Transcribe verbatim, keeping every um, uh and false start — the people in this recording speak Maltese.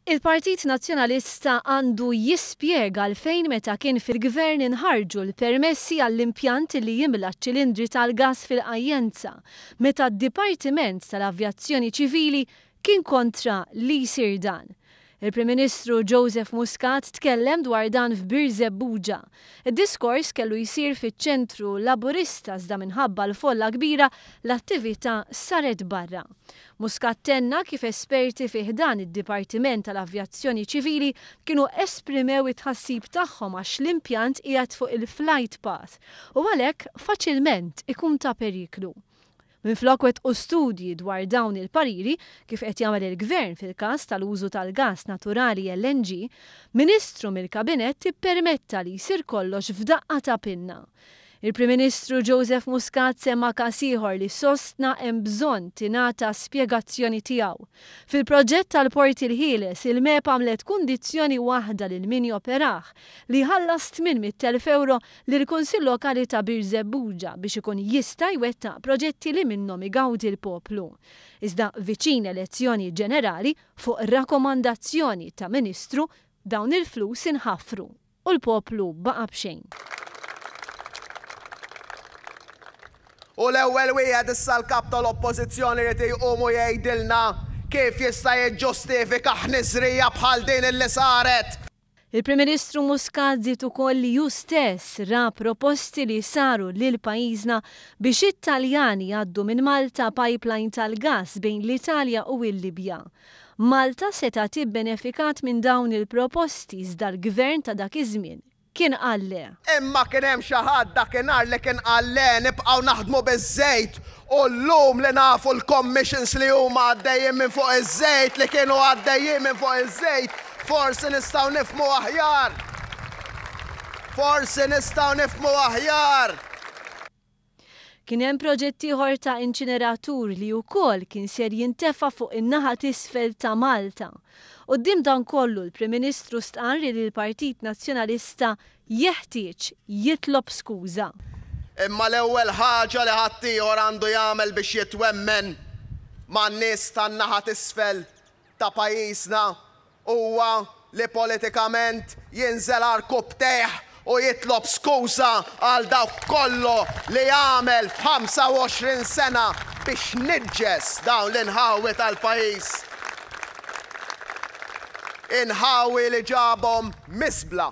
Il-Partit Nazzjonalista għandu jispjega għalfejn meta kien fil-gvern inħarġu l-permessi għall-impjant li jimla ċ-ċilindri tal-gas fil-Qajjenza, meta d-Dipartiment tal-Avjazzjoni Ċivili kien kontra li jsir dan. Il-Prim Ministru Joseph Muscat tkellem dwar dan f'Birżebbuġa. Id-diskors kellu jsir fiċ-ċentru Laburista, iżda minħabba l-folla kbira l-attività saret barra. Muscat tenna kif esperti fi ħdan id-Dipartiment tal-Avjazzjoni Ċivili kienu esprimew it-tħassib tagħhom għax l-impjant qiegħed fuq il-flight path u għalhekk faċilment ikun ta' periklu. Minflok wettqu studji dwar dawn il-pariri, kif qed jagħmel il-Gvern fil-każ tal-użu tal-gas naturali L N G, Ministru mill-Kabinett ippermetta li jsir kollox f'daqqa ta' pinna. Il-Prim Ministru Joseph Muscat semma każ ieħor li sostna hemm bżonn tingħata spjegazzjoni tiegħu. Fil-proġett tal-Port il-Ħieles, il-MEPA għamlet kundizzjoni waħda lil min joperah, li ħallas tmien mitt elf euro lill-Kunsill Lokali ta' Birżebbuġa biex ikun jista' jwettaq proġetti li minnhom igawdi l-poplu. Iżda viċin elezzjoni ġenerali, fuq rakkomandazzjoni ta' Ministru, dawn il-flus inħafru u l-poplu baqa' b'xejn. U l-ewwel wieħed issa l-kap tal-Oppożizzjoni li jqum u jgħidilna kif jista' jiġġustifika ħniżrija bħal din illi saret. Il-Prim Ministru Muscat żied ukoll li hu stess ra proposti li saru lil pajjiżna biex it-Taljani jgħaddu minn Malta pipeline tal-gas bejn l-Italja u l-Libja. Malta seta' tibbenefikat minn dawn il-proposti, iżda l-gvern ta' dak iż-żmien kien qal le. Imma kien hemm xi ħadd dakinhar li kien qal le, nibqgħu naħdmu biż-żejt, u llum li nafu l-commissions li huma għaddejjin minn fuq iż-żejt, li kienu għaddejjin minn fuq iż-żejt, forsi nistgħu nifhmu aħjar. Forsi nistgħu nifhmu aħjar. Kien hemm proġett ieħor ta' inċineratur li wkoll kien ser jintefa' fuq in-naħa t'isfel ta' Malta. Quddiem dan kollu, l-Prim Ministru stqarr li l-Partit Nazzjonalista jeħtieġ jitlob skuża. Imma l-ewwel ħaġa li ħaddieħor għandu jagħmel biex jitwemmen man-nies tan-naħa t'isfel ta' pajjiżna huwa li politikament jinżel għarkupptejh u jitlob skuża għal dawk kollu li għamel f'ħamsa u għoxrin sena biex niġġes dawn l-inħawi tal-pajjiż. Inħawi li ġabhom miżbla.